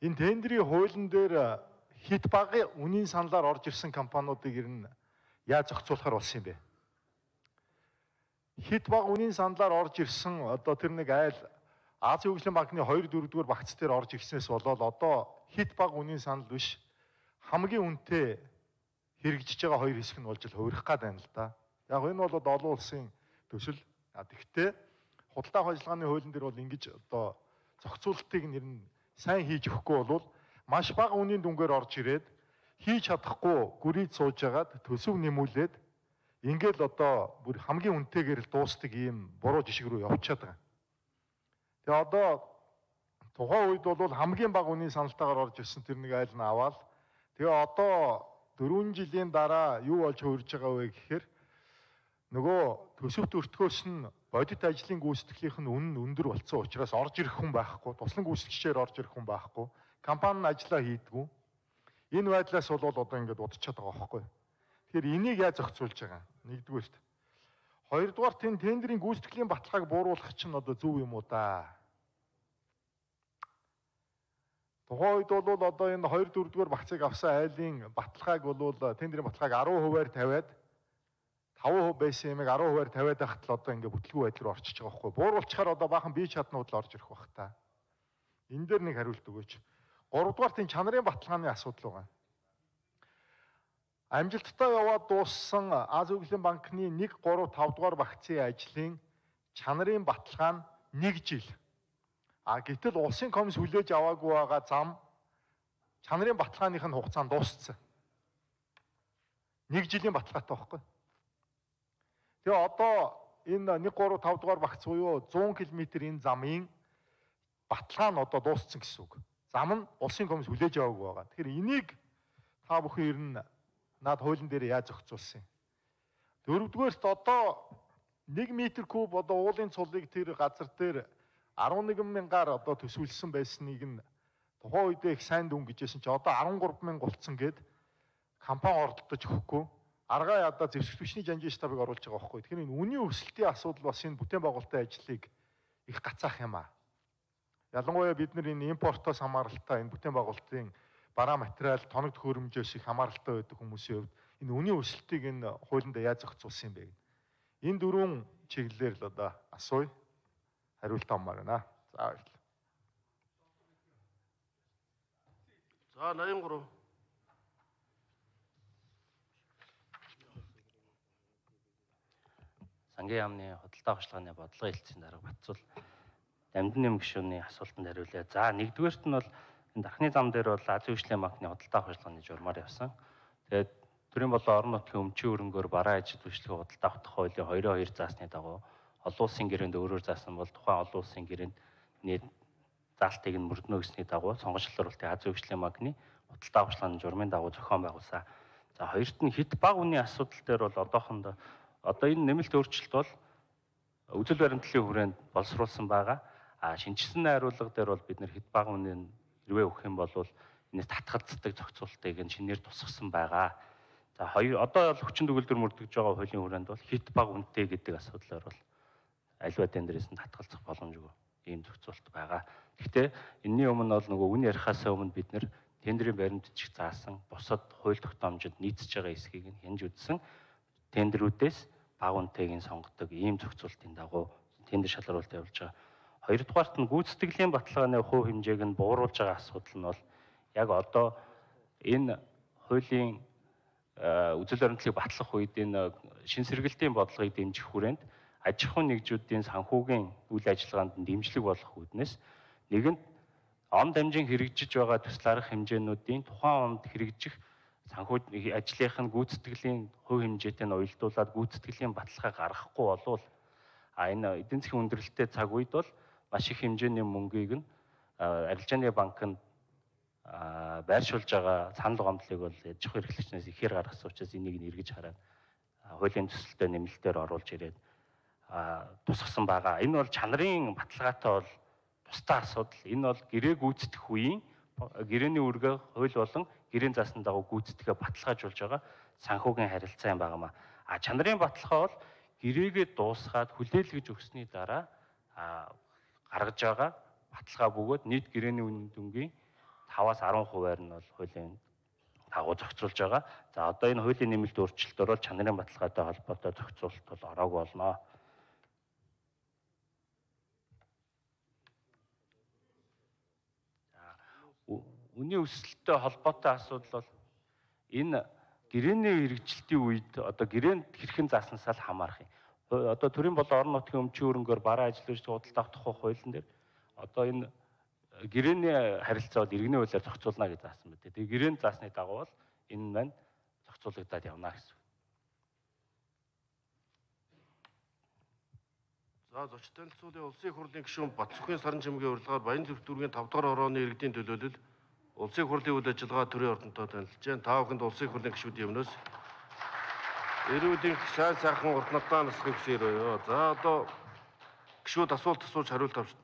Энэ тендерийн хуулийн дээр хит багын үнийн саналаар орж ирсэн компаниудыг ер нь яаж зохицуулахар болсон юм бэ? Хит баг үнийн саналаар орж ирсэн одоо тэр нэг айл Азийн хөгжлийн банкны 2-4 дугаар багц дээр орж ирснээс болоод одоо хит баг үнийн санал биш хамгийн үнэтэй хэрэгжиж байгаа хоёр хэсэг нь болж хувирах гээд байна л да. Яг энэ бол олон улсын төсөл. Тэгэхдээ худалдаа авах ажиллагааны хуулийн дээр бол ингэж одоо зохицуулалтыг нь сайн хийж өгөхгүй бол маш бага үнийн дүнгээр орж ирээд хийж чадахгүй гүрийд сууж агаад төсөв нэмүүлээд ингээл одоо бүр хамгийн үнэтэйгээр л дуустдаг ийм буруу жишг рүү явчихад байгаа. Тэгээ одоо тухайн үед бол хамгийн бага үнийн саналтаагаар орж ирсэн тэр нэг айл нь аваад тэгээ одоо 4 жилийн дараа юу болж хувирж байгаа вэ гэхээр нөгөө төсөв төртгөөс нь бодит ажлын гүйцэтгэлийнх нь үнэ өндөр болсон учраас орж ирэх хүн байхгүй, туслан гүйцэтгэгчээр орж ирэх хүн байхгүй, компани нь ажиллаа хийдгүү. Энэ байдлаас бол одоо ингээд удчихад байгаа байхгүй. Тэгэхээр энийг яаж зохицуулж байгаа? Нэгдүгээрт. Хоёрдугаар тендерийн гүйцэтгэлийн баталгааг бууруулах чинь одоо зөв юм уу да? Тухайн үед бол одоо энэ 2-4 дугаар багцыг авсан айлын баталгааг бол тендерийн баталгааг 10%-аар тавиад 5% байсан юмыг 10%-аар тавиад байхад л одоо ингээ бүтлгүй байдал руу орчиж байгаа байхгүй. Бууруулчихаар одоо баахан бие чаднууд л орж ирэх бах та. Энэ дээр нэг хариулт өгөөч. 3 дугаар чанарын баталгааны асуудал байгаа. Амжилттай яваад дууссан Азийн хөгжлийн банкны 1, 3, 5 дугаар багцын ажлын чанарын баталгаа нь 1 жил. Гэтэл улсын комисс хүлээж аваагүй байгаа зам чанарын баталгааных нь хугацаанд дууссан. 1 жилийн баталгаатай байхгүй. Тэгээ одоо энэ 1, 3, 5 дугаар багц буюу 100 км энэ замын баталгаа нь одоо дууссан гэсэн үг. Зам нь улсын комисс хүлээж аваагүй байгаа. Тэгэхээр энийг та бүхэн ер нь наад хуулийн дээр яаж зохицуулсан юм? Дөрөвдүгээрт одоо 1 м3 одоо уулын цулыг тэр газар дээр 11,000-аар одоо төсвөлсөн байсныг нь тухайн үедээ их сайн дүн гэжсэн чи одоо 13,000 голцсон гэд компани оролдож өгөхгүй аргаа ядаа зэвсэг түвшний жанжин штабыг оруулж байгаа байхгүй. Тэгэхээр энэ үнийн өсөлтийн асуудал бас энэ бүтээн байгуулалтын ажлыг их гацаах юм аа. Ялангуяа бид нар энэ импортоос хамааралтай энэ бүтээн байгуулалтын бараа материал, тоног төхөөрөмжөөс их хамааралтай байдаг хүмүүсийн хувьд энэ үнийн өсөлтийг энэ хуулинд яаж зохицуулсан юм бэ? Энэ дөрвөн чиглэлээр л одоо асууя. Хариулт авмаар байна. За баярлалаа. За 83. Сангийн яамны худалдаа авахчлагын бодлогын хэлтсийн дарга Батцул Дамжин нэм гишүүний асуултанд хариулъя. За нэгдүгээрт нь бол энэ дархны зам дээр бол Азийн хөгжлийн банкны худалдаа авахчлагын журмаар явсан. Тэгээд төрийн болон орон нутгийн өмчийн өрөнгөөр бараа ажил үйлчлэгээ худалдаа авах хуулийн 22 заасны дагуу олон улсын гэрээнд өөрөөр заасан бол тухайн олон улсын гэрээнд нийт заалтыг нь мөрднө гэсний дагуу сонгон шалралтын Азийн хөгжлийн банкны худалдаа авахчлагын журмын дагуу зохион байгуулсан. За хоёрт нь хит баг үнийн асуудал дээр бол одоохондоо одоо энэ нэмэлт өөрчлөлт бол үзэл баримтлалын хүрээнд боловсруулсан байгаа. Шинжсэн найруулга дээр бол бид нэр хит баг үнийн хэрвээ өгөх юм бол энэс татгалздаг зохицуултыг нь шинээр тусгасан байгаа. За одоо бол хүчин төгөлдөр мөрдөгж байгаа хуулийн хүрээнд бол хит баг үнэтэй гэдэг асуудлаар бол аливаа тендерээс нь татгалзах боломжгүй ийм зохицуулт байгаа. Гэхдээ энэний өмнө бол нөгөө үн ярихаас өмнө бид нэр тендерийн баримтчиг заасан бусад хууль тогтоомжид нийцэж байгаа эсхийг нь хянж үзсэн тендерүүдээс баг үнэтэйг сонгодог ийм зохицуултын дагуу тендер шалгаруулалт явуулж байгаа. Хоёрдугаарт нь гүйцэтгэлийн баталгааны хувь хэмжээг нь бууруулж байгаа асуудал нь бол яг одоо энэ хуулийн үзэл баримтлалыг батлах үед энэ шин сэргэлтийн бодлогыг дэмжих хүрээнд аж ахуйн нэгжүүдийн санхүүгийн үйл ажиллагаанд дэмжлэг болох үүднээс нэгэнт он дамжин хэрэгжиж байгаа төсөл арга хэмжээнүүдийн тухайн онд хэрэгжих санхүү ажлынх нь гүйцэтгэлийн хувь хэмжээтэй нь уялдуулаад гүйцэтгэлийн баталгаа гаргахгүй болвол энэ эдийн засгийн өндөрлөлттэй цаг үед бол маш их хэмжээний мөнгийг нь арилжааны банкнд байршуулж байгаа санал гомдлыг бол аж ахуй эрхлэгчнээс ихээр гаргасан учраас энийг нь эргэж хараад хуулийн төсөлтөд нэмэлтээр оруулж ирээд тусгасан байгаа. Энэ бол чанарын баталгаатай бол тусдаа асуудал. Энэ бол гэрээ гүйцэтгэх үеийн гэрээний үргээ хууль болон гэрээний заасан дагуу гүйцэтгээ баталгаажуулж байгаа санхүүгийн харилцаа юм байнамаа. Чанарын баталгаа бол гэрээгээ дуусгаад хүлээлгэж өгсөний дараа гаргаж байгаа баталгаа бөгөөд нийт гэрээний үнэ дүнгийн 5-аас 10% нь бол хуулийн дагуу зохицуулж байгаа. За одоо энэ хуулийн нэмэлт өөрчлөлтөөр бол чанарын баталгаатай холбоотой зохицуулалт бол ороогүй болно. Үнийн өсөлттэй холбоотой асуудал бол энэ гэрээний хэрэгжилтийн үед одоо гэрээнд хэрхэн заснасаа л хамаарах юм. Одоо төрийн болон орон нутгийн өмчийн хөрөнгөөр бараа ажил үйлч худалдаах тухай хуулийн дээр одоо энэ гэрээний харилцаа бол иргэний хуулиар зохицуулна гэж заасан байдаг. Тэгээ гэрээнд заасны дагуу бол энэ маань зохицуулагдаад явна гэсэн. За зочид танилцуулын улсын их хурлын гишүүн Батцүхэн Саран Чимгийн урилгаар Баянзүрх дүүргийн 5 дахь хорооны иргэдийн төлөөлөл улсын их хурлын үйл ажиллагаа төрийн ордонтой танилцж байна. Та бүхэнд улсын их хурлын гишүүдийн өмнөөс эрүүдийн сайн сайхан урт надаа насхыг хүсье. За одоо гишүүд асуулт асууж хариулт авч